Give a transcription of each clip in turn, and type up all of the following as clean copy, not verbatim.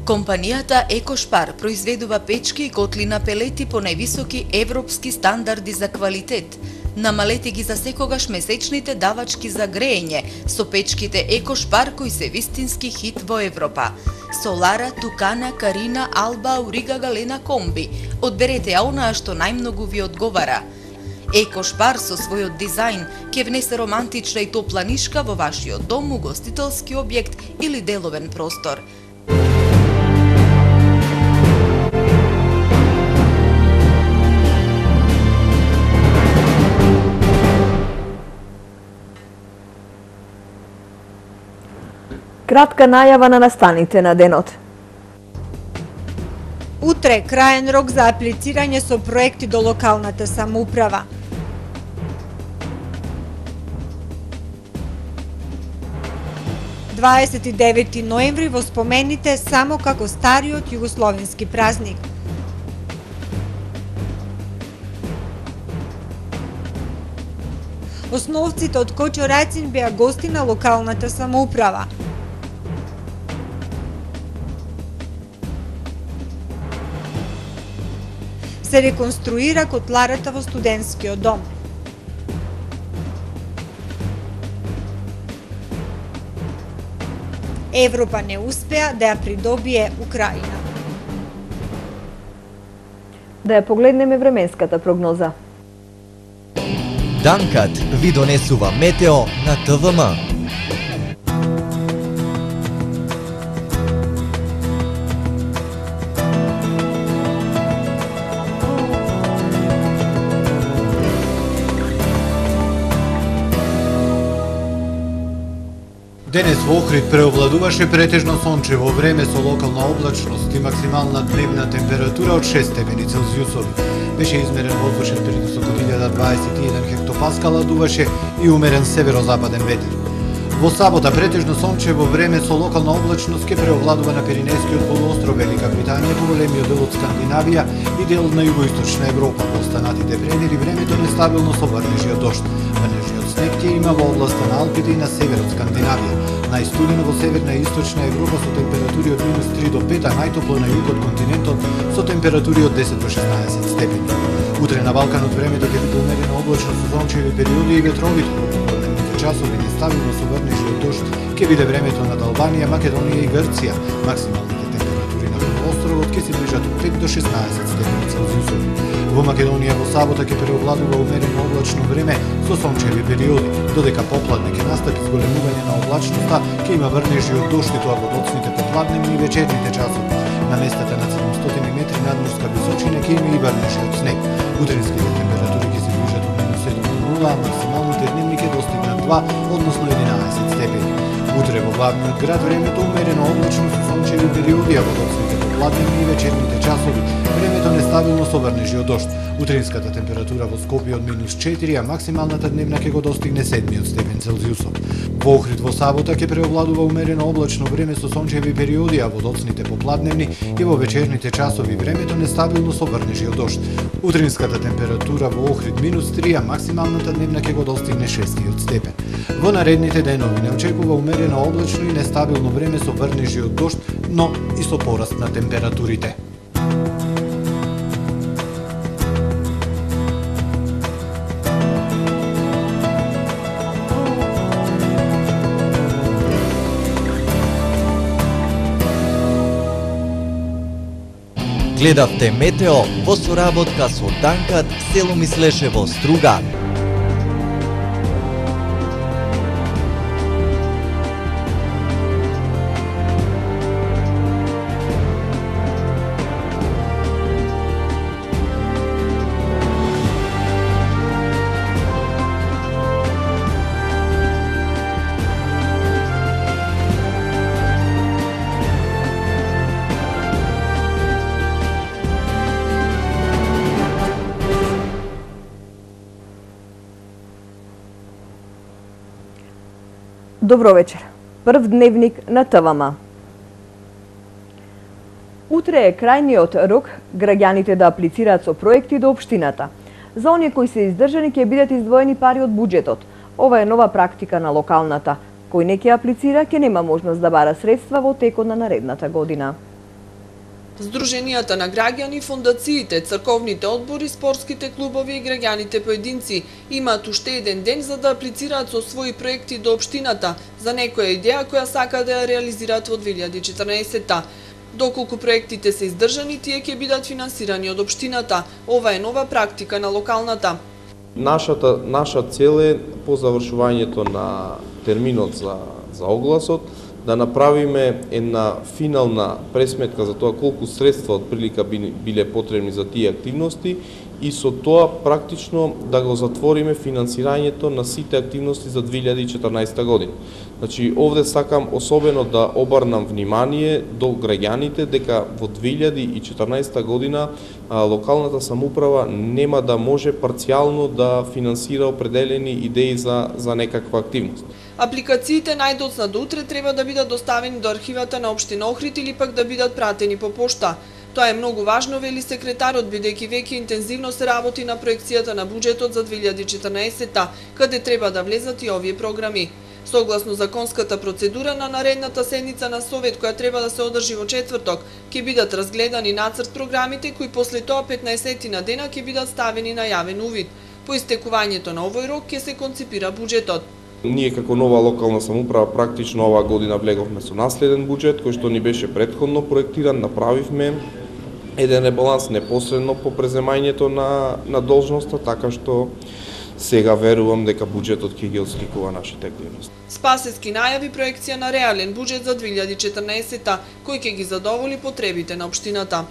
Компанијата Екошпар произведува печки и котли на пелети по највисоки европски стандарди за квалитет. Намалете ги за секогаш месечните давачки за греење со печките Екошпар кои се вистински хит во Европа. Солара, Тукана, Карина, Алба, Аурига, Галена, Комби. Одберете ја онаа што најмногу ви одговара. Екошпар со својот дизајн ќе внесе романтична и топла нишка во вашиот дом, угостителски објект или деловен простор. Кратка најава на настаните на денот. Утре краен рок за аплицирање со проекти до локалната самоуправа. –29 ноември во спомените само како стариот југословенски празник. Основците од Кочорацин беа гости на локалната самоуправа. Се реконструира котларата во студентскиот дом. Европа не успеа да ја придобие Украина. Да ја погледнеме временската прогноза. Данкат ви донесува метео на ТВМ. Денес во Охрид преовладуваше претежно сончево време со локална облачност и максимална дневна температура од 6 степени Целзиусови. Беше измерен воздушен притисок од 1021 хектопаскала, дуваше и умерен северозападен ветер. Во сабота претежно сончево време со локална облачност ќе преовладува на Пиринејскиот полуостров, Велика Британија, поголемиот дел од Скандинавија и дел на југоисточна Европа. Во останатите предели времето нестабилно со врнежи од дожд. Врнежиот снег ќе има во областа на Алпите и на северот Скандинавија. Најстудено во северна и источна Европа со температури од -3 до 5, а најтопло на југот континентот со температури од 10 до 16 степени. Утре на Балканот времето ќе биде умерено облачно со сончеви периоди и ветровито. Во попладневните часови нестабилно со врнежи од дожд ќе биде времето над Албанија, Македонија и Грција. Максималните температури на полуостровот ќе се ближат од 5 до 16 степени Целзиусови. Во Македонија во сабота ќе преовладува умерено облачно време со сончеви периоди, додека попладне ќе настапи зголемување на облачноста, ќе има врнежи од дожд и тоа во доцните попладневни и вечерните часови. На местата на 700 метри надморска височина ќе има и врнежи од снег. Утринските температури ќе се ближат од -7 до 0, а максималните дневни ќе достигнат 2, односно 11 степени. Утре во главниот град времето умерено облачно со сончеви периоди, а во доцните попладневни и вечерните часови времето нестабилно со врнежи од дожд. Утринската температура во Скопје од -4, а максималната дневна ќе го достигне 7 степен Целзиусов. Во Охрид во сабота ќе преовладува умерено облачно време со сончеви периоди, а во доцните попладневни и во вечерните часови времето нестабилно со врнежи од дожд. Утринската температура во Охрид -3, а максималната дневна ќе го достигне 6 степен. Во наредните денови не очекува умерено облачно и нестабилно време со врнежи од дожд, но и со пораст на температурите. Гледавте метео во соработка со Данкат, село Мислешево, Струга. Добро вечер. Прв дневник на ТВМ. Утре е крајниот рок граѓаните да аплицираат со проекти до општината. За оние кои се издржани ќе бидат издвоени пари од буџетот. Ова е нова практика на локалната. Кој не ќе аплицира ќе нема можност да бара средства во текот на наредната година. Здруженијата на граѓани, фондациите, црковните одбори, спортските клубови и граѓаните поединци имаат уште еден ден за да аплицираат со своји проекти до општината за некоја идеја која сака да ја реализираат во 2014-та. Доколку проектите се издржани, тие ќе бидат финансирани од општината. Ова е нова практика на локалната. Наша цел е по завршувањето на терминот за огласот да направиме една финална пресметка за тоа колку средства од прилика биле потребни за тие активности и со тоа практично да го затвориме финансирањето на сите активности за 2014 година. Значи, овде сакам особено да обрнам внимание до граѓаните дека во 2014 година локалната самоуправа нема да може парцијално да финансира определени идеи за некаква активност. Апликациите најдоцна до утре треба да бидат доставени до архивата на општина Охрид или пак да бидат пратени по пошта. Тоа е многу важно, вели секретарот, бидејќи веќе интензивно се работи на проекцијата на буџетот за 2014-та, каде треба да влезат и овие програми. Согласно законската процедура на наредната седница на Совет, која треба да се одржи во четврток, ќе бидат разгледани нацрт програмите, кои после тоа 15 на дена ќе бидат ставени на јавен увид. По истекувањето на овој рок ќе се конципира буџетот. Ние како нова локална самоуправа практично оваа година влеговме со наследен буџет кој што ни беше претходно проектиран, направивме еден ребаланс непосредно по преземањето на должноста, така што сега верувам дека буџетот ќе ги отсликува нашите активности. Спасески најави проекција на реален буџет за 2014-та, кој ќе ги задоволи потребите на општината.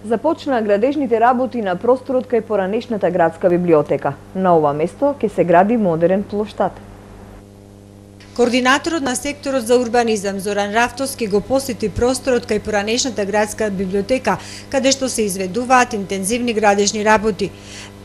Започна градежните работи на просторот кај поранешната градска библиотека. На ова место ќе се гради модерен плоштад. Координаторот на секторот за урбанизам Зоран Рафтовски го посети просторот кај поранешната градска библиотека, каде што се изведуваат интензивни градежни работи.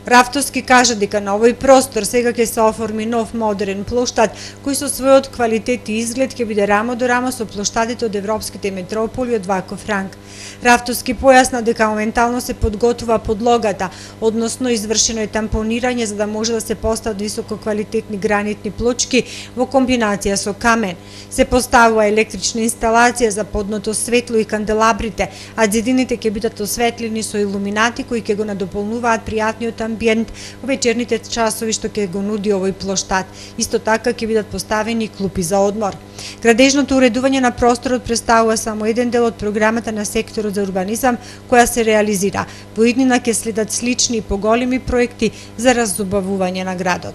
Рафтовски кажа дека на овој простор сега ќе се оформи нов модерен плоштад, кој со својот квалитет и изглед ќе биде рамо до рамо со плоштадите од европските метрополи од Ваков ранг. Рафтовски појасна дека моментално се подготвува подлогата, односно извршено е тампонирање за да може да се постават висококвалитетни гранитни плочки во комбинација со камен. Се поставува електрична инсталација за подното светло и канделабрите, а зидините ќе бидат осветлени со илуминати кои ќе го надополнуваат пријатниот амбиент во вечерните часови што ќе го нуди овој плоштад. Исто така ќе бидат поставени клупи за одмор. Градежното уредување на просторот представува само еден дел од програмата на секторот за урбанизам која се реализира. Во иднина ќе следат слични и поголеми проекти за разубавување на градот.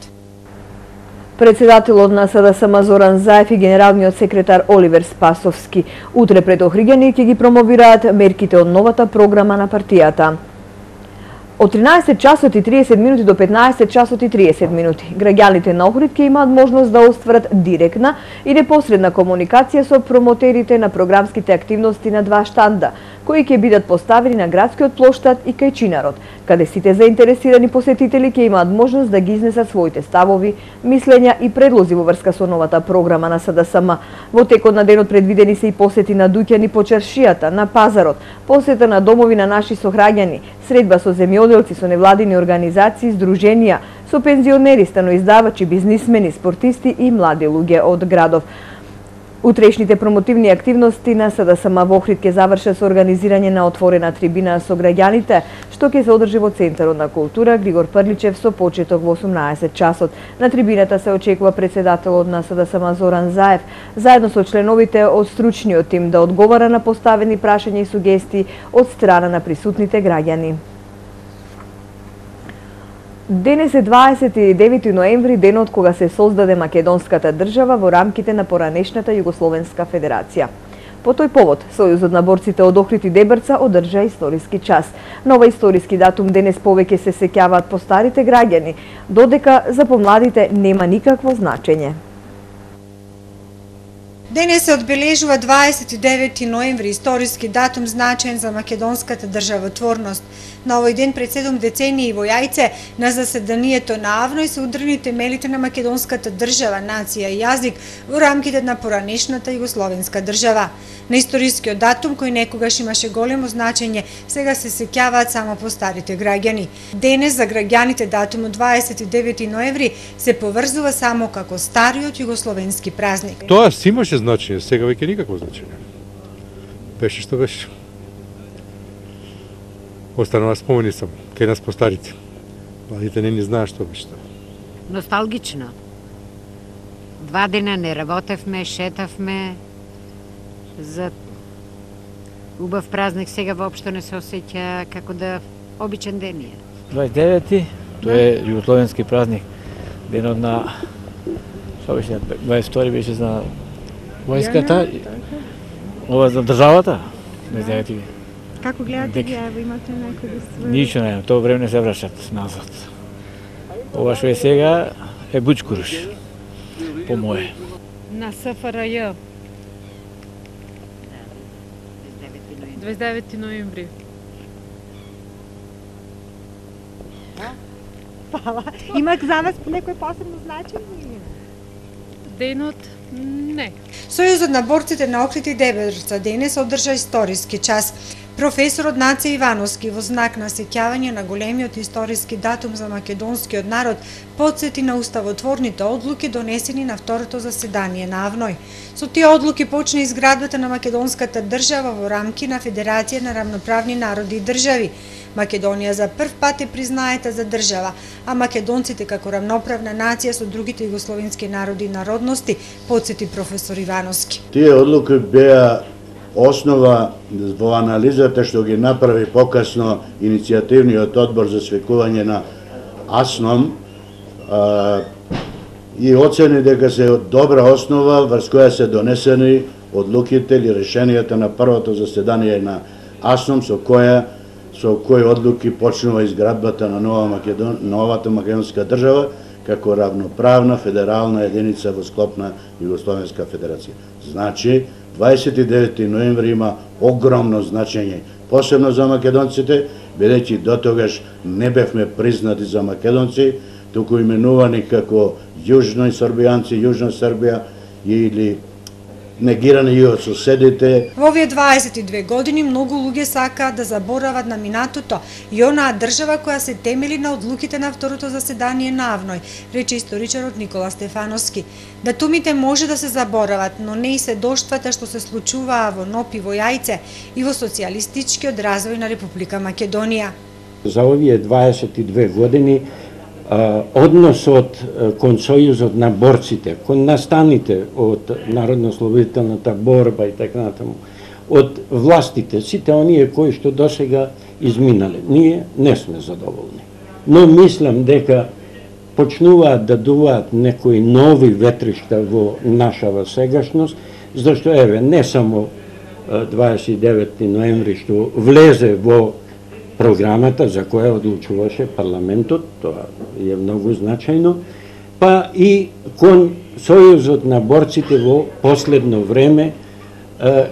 Председателот на СДСМ Зоран Заев и генералниот секретар Оливер Спасовски утре пред Охриѓани ќе ги промовираат мерките од новата програма на партијата. Од 13 часот и 30 минути до 15 часот и 30 минути, граѓаните на Охрид ќе имаат можност да остварат директна и непосредна комуникација со промотерите на програмските активности на два штанда, кои ќе бидат поставени на градскиот плоштад и кај Чинарот, каде сите заинтересирани посетители ќе имаат можност да ги изнесат своите ставови, мислења и предлози во врска со новата програма на СДСМ. Во текот на денот предвидени се и посети на дуќани по чаршијата, на пазарот, посета на домови на наши сограѓани, средба со земјоделци, со невладини организации, здруженија, со пензионери, станоиздавачи, бизнисмени, спортисти и млади луѓе од градов. Утрешните промотивни активности на СДСМ во Охрид ќе завршат со организирање на отворена трибина со граѓаните, што ќе се одржи во Центарот на култура Григор Прличев со почеток во 18 часот. На трибината се очекува председателот на СДСМ Зоран Заев, заедно со членовите од стручниот тим да одговара на поставени прашања и сугестии од страна на присутните граѓани. Денес е 29 ноември, денот кога се создаде македонската држава во рамките на поранешната Југословенска федерација. По тој повод, Сојузот на борците од Охрид и Дебрца одржа историски час. На овој историски датум денес повеќе се сеќаваат постарите граѓани, додека за помладите нема никакво значење. Денес се одбележува 29 ноември, историски датум значаен за македонската државотворност. На овој ден пред 7 децении во Јајце, на заседанието на АВНОј се удрани темелите на македонската држава, нација и јазик во рамките на поранешната Југословенска држава. На историскиот датум, кој некогаш имаше големо значење, сега се сеќаваат само постарите граѓани. Денес за граѓаните датумот 29 ноември се поврзува само како стариот југословенски празник. Тоа си имаше значење, сега веќе никакво значење. беше што беше. Останува спомени само, кај нас постарите. Младите не ни знаат што беше тоа. Носталгично. 2 дена не работевме, шетавме. За убав празник сега воопшто не се осеќа како да обичен ден е. 29-ти, тоа е југословенски празник. Денот на 22 беше за војската, ова за државата. Не знаете. Како гледате ги, ево имате некој да се... Ништо не, тоа време не се врашат назад. Ова што е сега е бучкуруш, по моје. На СФРЈ. 29 ноември. Фала. Има за вас некој посебно значење? Денот? Не. Сојузот на борците на Охрид и Дебелица денес одржа историски час. Професорот Наце Ивановски во знак на сеќавање на големиот историски датум за македонскиот народ потсети на уставотворните одлуки донесени на второто заседание на АВНОј. Со тие одлуки почна изградбата на македонската држава во рамки на Федерација на рамноправни народи и држави. Македонија за прв пат е признаета за држава, а македонците како рамноправна нација со другите југословенски народи и народности, потсети професор Ивановски. Тие одлуки беа основа во анализата што ги направи покасно иницијативниот одбор за свекување на АСНОМ и оцени дека се добра основа врз која се донесени одлуките или решенијата на првото заседание на АСНОМ со кои одлуки почнува изградбата на новата македонска држава како равноправна федерална единица во склоп на Југословенска федерација. Значи, 29 ноември има огромно значење, посебно за македонците, бидејќи дотогаш не бевме признати за македонци, туку именувани како јужни србијанци, јужна Србија или негирани и од соседите. Во овие 22 години многу луѓе сакаат да заборават на минатото и онаа држава која се темели на одлуките на второто заседание на АВНОј, рече историчарот Никола Стефановски. Датумите може да се заборават, но не и се доштвата што се случуваа во НОП и во Јајце и во социјалистичкиот развој на Република Македонија. За овие 22 години односот кон Сојузот на борците, кон настаните од народно-ослободителната борба и така натаму, од властите, сите оние кои што досега изминале, ние не сме задоволни. Но мислам дека почнуваат да дуваат некои нови ветришта во нашава сегашност, зашто еве не само 29 ноември што влезе во програмата за која одлучуваше парламентот, тоа е многу значајно, па и кон Сојузот на борците во последно време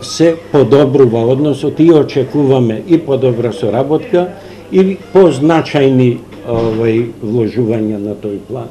се подобрува односот и очекуваме и подобра соработка и позначајни вложувања на тој план.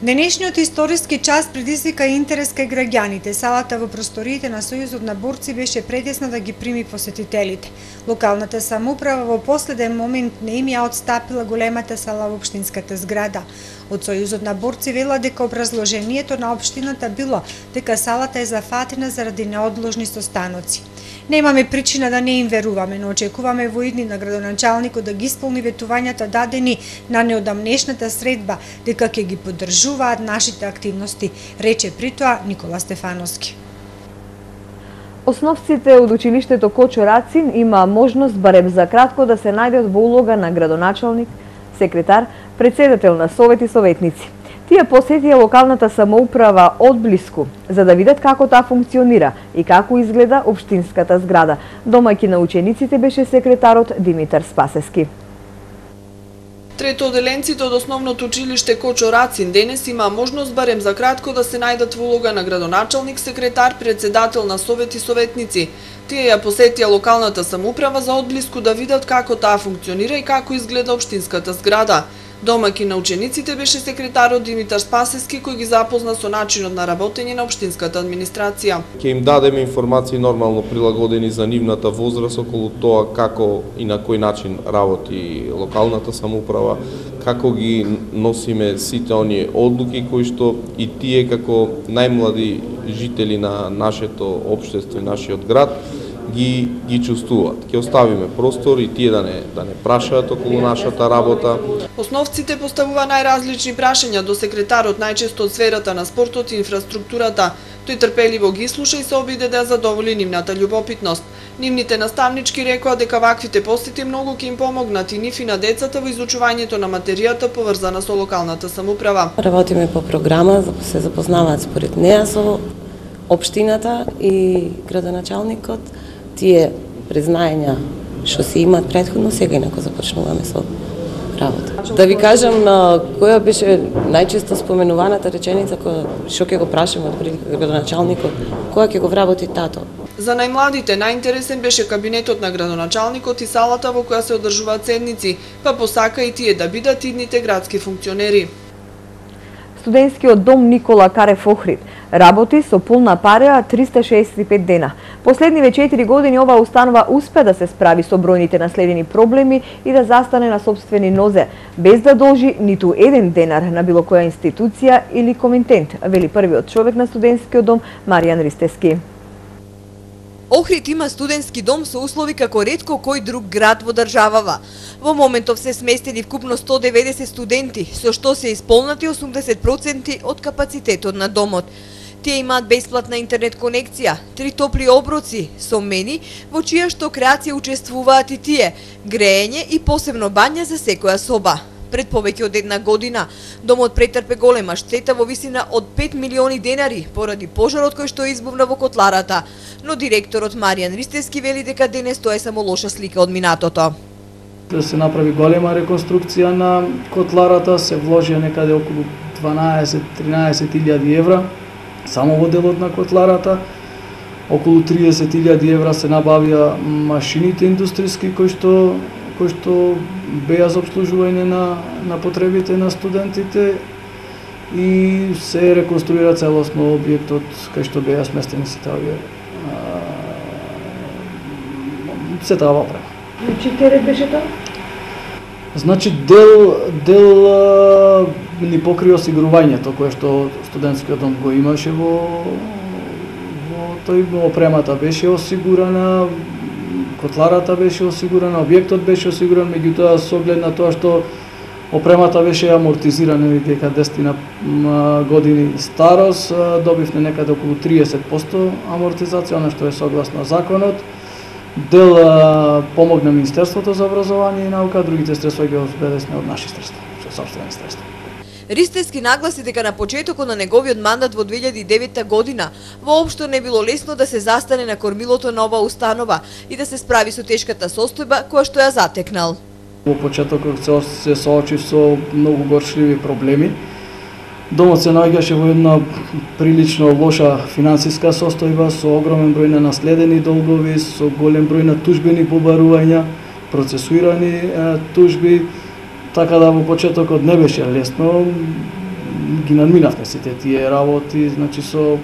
Денешниот историски час предизвика интерес кај граѓаните. Салата во просториите на Сојузот на борци беше предесна да ги прими посетителите. Локалната самоуправа во последен момент не им ја отстапила големата сала во општинската зграда. Од Сојузот на борци вела дека образложението на општината било дека салата е зафатена заради неодложни состаноци. Немаме причина да не им веруваме, но очекуваме во идни на градоначалникот да ги исполни ветувањата дадени на неодамнешната средба, дека ќе ги поддржуваат нашите активности, рече при тоа Никола Стефановски. Основците од училиштето Кочо Рацин има можност барем за кратко да се најдат во улога на градоначалник, секретар, председател на совет и советници. Тие посетија локалната самоуправа одблиску, за да видат како таа функционира и како изгледа општинската зграда. Домаќин на учениците беше секретарот Димитар Спасески. Третоделенците од основното училиште Кочо Рацин денес има можност барем за кратко да се најдат во улога на градоначалник, секретар, председател на совет и советници. Тие ја посетија локалната самоуправа за одблиску да видат како таа функционира и како изгледа општинската зграда. Домаќин на учениците беше секретарот Димитар Спасески, кој ги запозна со начинот на работење на општинската администрација. Ќе им дадеме информации нормално прилагодени за нивната возраст околу тоа како и на кој начин работи локалната самоуправа, како ги носиме сите оние одлуки кои што и тие како најмлади жители на нашето општество и нашиот град ги чувствуваат. Ќе оставиме простор и тие да не прашаат околу нашата работа. Основците поставува најразлични прашања до секретарот, најчесто од сферата на спортот и инфраструктурата. Тој трпеливо ги слуша и се обиде да задоволи нивната љубопитност. Нивните наставнички рекоа дека ваквите посети многу ќе им помогнат и нив и на децата во изучувањето на материјата поврзана со локалната самоуправа. Работиме по програма, се запознаваат според неа со општината и градоначалникот. Тие признаења што се имаат претходно, сега инако започнуваме со работа. Да ви кажам, која беше најчесто споменуваната реченица што ќе го прашаме од градоначалникот, која ќе го вработи тато? За најмладите најинтересен беше кабинетот на градоначалникот и салата во која се одржуваат седници, па посака и тие да бидат идните градски функционери. Студентскиот дом Никола Карев Охрид работи со полна пареа 365 дена. Последниве 4 години оваа установа успе да се справи со бројните наследени проблеми и да застане на сопствени нозе, без да должи ниту еден денар на било која институција или комитент, вели првиот човек на студентскиот дом Маријан Ристески. Охрид има студентски дом со услови како ретко кој друг град во државава. Во моментов се сместени вкупно 190 студенти, со што се исполнати 80% од капацитетот на домот. Тие имаат бесплатна интернет конекција, 3 топли оброци со мени, во чија што креација учествуваат и тие, греење и посебно бања за секоја соба. Пред повеќе од една година, домот претрпе голема штета во висина од 5 милиони денари поради пожарот кој што избувна во котларата, но директорот Маријан Ристески вели дека денес тоа е само лоша слика од минатото. Да се направи голема реконструкција на котларата, се вложи некаде околу 12-13 евра само во делот на котларата. Околу 30.000 евра се набавија машините индустријски кои што беа за обслужување на потребите на студентите и се реконструира целосно објектот кај што беа сместени сите овие сета опрема. Чиј терет беше тоа? Значи дел ни покри осигурувањето кое што студентскиот дом го имаше во тој опремата беше осигурана, котларата беше осигурана, објектот беше осигуран, меѓутоа со оглед на тоа што опремата беше амортизирана дека 10 години старост, добивме некаде околу 30% амортизација, она што е согласно законот. Дел помогна Министерството за образование и наука, другите средства ги обезбедесме од наши средства, со сопствени средства. Ристески нагласи дека на почетокот на неговиот мандат во 2009 година воопшто не било лесно да се застане на кормилото на оваа установа и да се справи со тешката состојба која што ја затекнал. Во почетокот се соочи со многу горчливи проблеми. Домот се наоѓаше во една прилично лоша финансиска состојба, со огромен број на наследени долгови, со голем број на тужбени побарувања, процесуирани тужби, така да во почетокот не беше лесно. Ги надминавме сите тие работи, значи со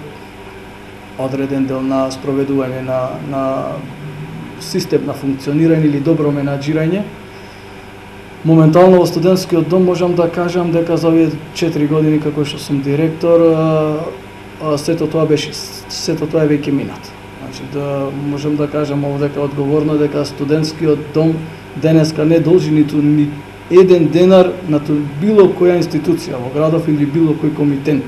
одреден дел на спроведување на систем на функционирање или добро менаџирање. Моментално во студентскиот дом можам да кажам дека за овие 4 години како што сум директор, сето тоа е веќе минато. Значи да можам да кажам дека одговорно дека студентскиот дом денеска не должи ниту еден денар на било која институција во градов или било кој комитент.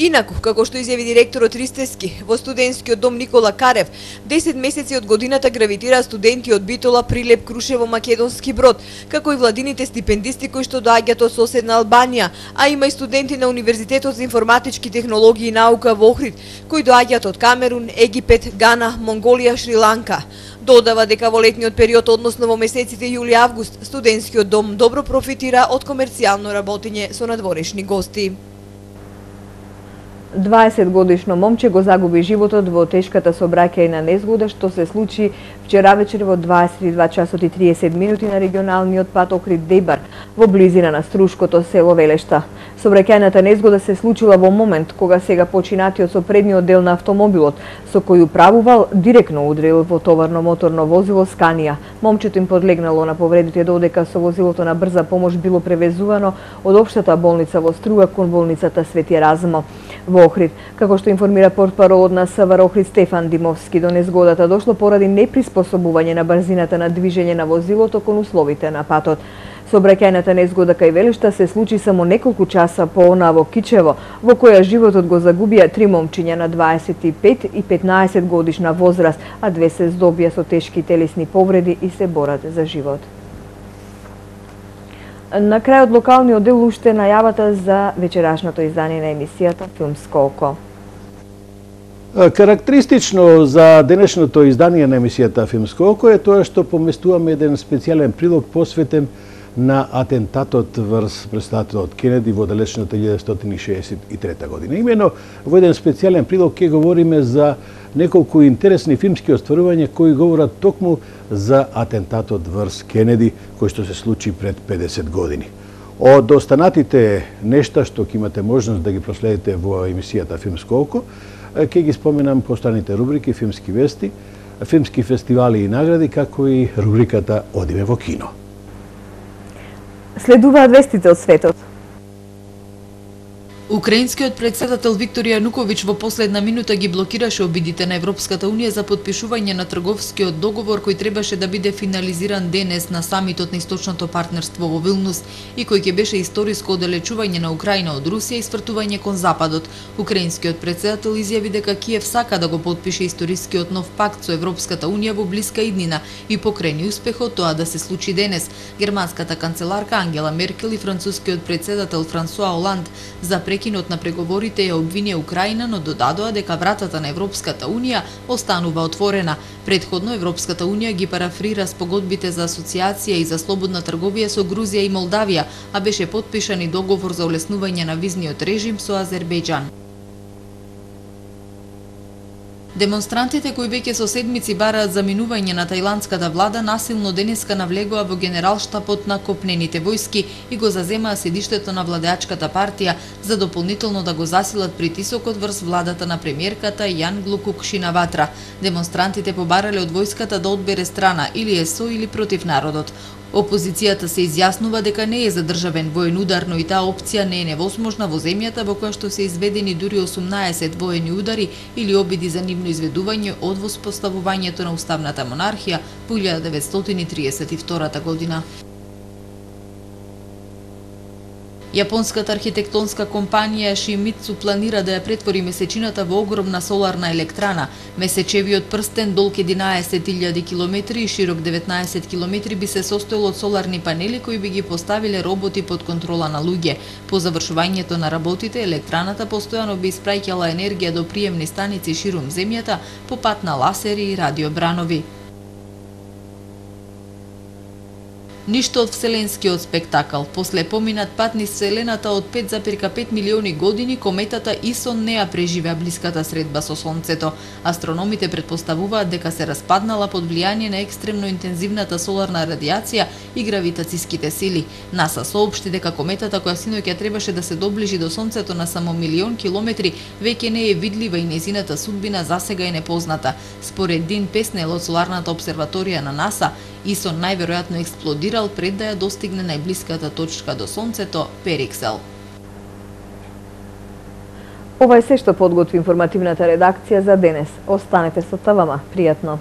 Инаку, како што изјави директорот Ристески, во студентскиот дом Никола Карев, 10 месеци од годината гравитираат студенти од Битола, Прилеп, Крушево, Македонски Брод, како и владините стипендисти кои што доаѓаат од соседна Албанија, а има и студенти на Универзитетот за информатички технологии и наука во Охрид, кои доаѓаат од Камерун, Египет, Гана, Монголија, Шри-Ланка. Додава дека во летниот период, односно во месеците јули-август, студентскиот дом добро профитира од комерцијално работење со надворешни гости. 20-годишно момче го загуби животот во тешката сообраќајна незгода што се случи вчера вечер во 22 часот и 30 минути на регионалниот пат Охрид-Дебар во близина на струшкото село Велешта. Сообраќајната незгода се случила во момент кога сега починатиот со предниот дел на автомобилот со кој управувал директно удрил во товарно моторно возило Сканија. Момчето им подлегнало на повредите додека со возилото на брза помош било превезувано од општата болница во Струга кон болницата Свети Размо. Во во Охрид. Како што информира портпаролот на СВР Охрид Стефан Димовски, до незгодата дошло поради неприспособување на брзината на движење на возилото кон условите на патот. Сообраќајната незгода кај Велишта се случи само неколку часа по-она во Кичево, во која животот го загубија 3 момчиња на 25 и 15 годишна возраст, а 2 се здобија со тешки телесни повреди и се борат за живот. На крајот локалниот дел уште најавата за вечерашното издание на емисијата Филмско око. Карактеристично за денешното издание на емисијата Филмско око е тоа што поместуваме еден специјален прилог посветен на атентатот врз претседателот Кенеди во далечната 1963 година. Имено во еден специјален прилог ќе говориме за неколку интересни филмски остварувања кои говорат токму за атентатот врз Кенеди кој што се случи пред 50 години. Од останатите нешта што ќе имате можност да ги проследите во емисијата Филмско око, ќе ги споменам постојаните рубрики Филмски вести, филмски фестивали и награди, како и рубриката Одиме во кино. Следуваат вестите од светот. Украинскиот председател Виктор Јануковиќ во последна минута ги блокираше обидите на Европската унија за подпишување на трговскиот договор кој требаше да биде финализиран денес на самитот на Источното партнерство во Вилнус и кој ќе беше историско оддалечување на Украина од Русија и свртување кон Западот. Украинскиот председател изјави дека Киев сака да го подпише историскиот нов пакт со Европската унија во блиска иднина и покрени успехот тоа да се случи денес. Германската канцеларка Ангела Меркел и францускиот председател Франсуа Оланд за прекинот на преговорите ја обвинија Украина, но додадоа дека вратата на Европската унија останува отворена. Предходно Европската унија ги парафрира спогодбите за асоциација и за слободна трговија со Грузија и Молдавија, а беше потпишан и договор за улеснување на визниот режим со Азербејџан. Демонстрантите кои веќе со седмици бараат заминување на тајландската влада насилно денеска навлегоа во генералштабот на копнените војски и го заземаа седиштето на владеачката партија за дополнително да го засилат притисокот врз владата на премиерката Јанглукук Шинаватра. Демонстрантите побарале од војската да одбере страна или е со или против народот. Опозицијата се изјаснува дека не е задржавен воен удар, но и таа опција не е невозможна во земјата во која што се изведени дури 18 воени удари или обиди за нивно изведување од воспоставувањето на уставната монархија во 1932 година. Јапонската архитектонска компанија Шимицу планира да ја претвори месечината во огромна соларна електрана. Месечевиот прстен долг 11.000 км и широк 19 км би се состоел од соларни панели кои би ги поставиле роботи под контрола на луѓе. По завршувањето на работите, електраната постојано би испраќала енергија до приемни станици ширум земјата по пат на ласери и радиобранови. Ништо од вселенскиот спектакл. После поминат пат низ Вселената од 5,5 милиони години, кометата Исон не ја преживеа блиската средба со Сонцето. Астрономите претпоставуваат дека се распаднала под влијание на екстремно интензивната соларна радиација и гравитациските сили. НАСА соопшти дека кометата која синоќа требаше да се доближи до Сонцето на само 1.000.000 километри веќе не е видлива и нејзината судбина засега е непозната. Според Дин Песнел од соларната обсерваторија на НАСА, Исон најверојатно експлодирал пред да ја достигне најблиската точка до Сонцето, Периксел. Ова е се што подготви информативната редакција за денес. Останете со ТВМ. Пријатно!